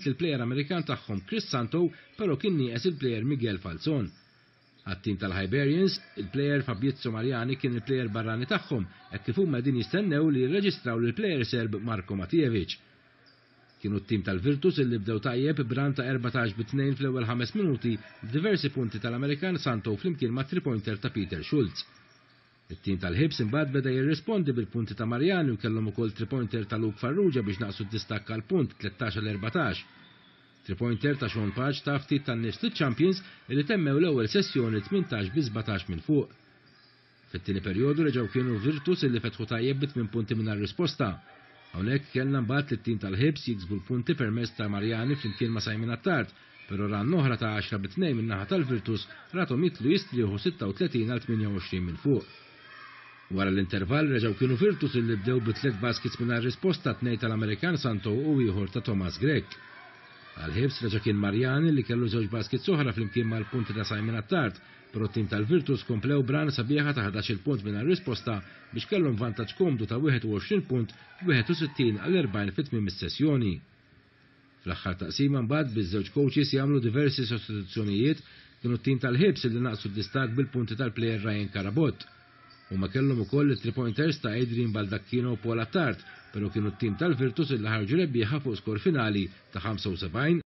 lill-plejer Amerikan tagħhom Chris Santo però kien nieqes il-plejer Miguel Falzon. Għat-tim tal-Hibernians, il-plejer Fabrizio Mariani kien il-plejer barrani tagħhom hekk kif huma qegħdin jistennew li jirreġistraw lill-plejer Serb Marko Matijevic. Kienu t-tim tal-Virtus illi bdew tajjeb b'run ta' 14 bi tnejn fl-ewwel ħames minuti b'diversi punti tal-Amerikan Santo flimkien ma' three-pointer ta' Peter Schulz. It-tim tal-Hibs imbagħad beda jirrispondi bil-punti ta' Mariani u kellhom ukoll three-pointer ta' Luke Farrugia biex naqsu d-distakk għal punt, 13 għal 14. Three-pointer ta' Sean Pace ta ftit tan-nifs liċ-champions li temmew l-ewwel sessjoni 18 bi 17 minn fuq. Fit-tieni perjodu reġgħu kienu Virtus li fetħu tajjeb bi tmien punti mingħajr risposta. Hawnhekk kellna mbagħad lit-tim tal-Hibs jiksbu l-punti permezz ta' Mariani flimkien ma' Simon Attard, però run oħra ta' għaxra bi tnejn min-naħa tal-Virtus rathom jidħlu jistrieħu 36 għal 28 minn fuq. Wara l-intervall reġgħu kienu Virtus li bdew bi tliet baskets mingħajr risposta, tnejn tal-Amerikan Santo u ieħor ta' Thomas Grech. Għal Hibs reġa' kien Mariani li kellu żewġ baskets oħra flimkien mal-punti ta' Simon Attard, però t-tim tal-Virtus komplew b'run sabiħa ta' ħdax-il punt mingħajr risposta biex kellhom vantaġġ komdu ta' 21 punt, 61 għal 40 fi tmiem is-sessjoni. Fl-aħħar taqsima mbagħad biż-żewġ coaches jagħmlu diversi sostituzzjonijiet kienu t-tim tal-Hibs li naqsu d-distakk bil-punti tal-plejer Ryan Carabott. Huma kellhom ukoll it-three pointers ta' Adrian Baldacchino u Paul Attard, però kienu t-tim tal-Virtus li ħarġu rebbieħa fuq skor finali ta' 75.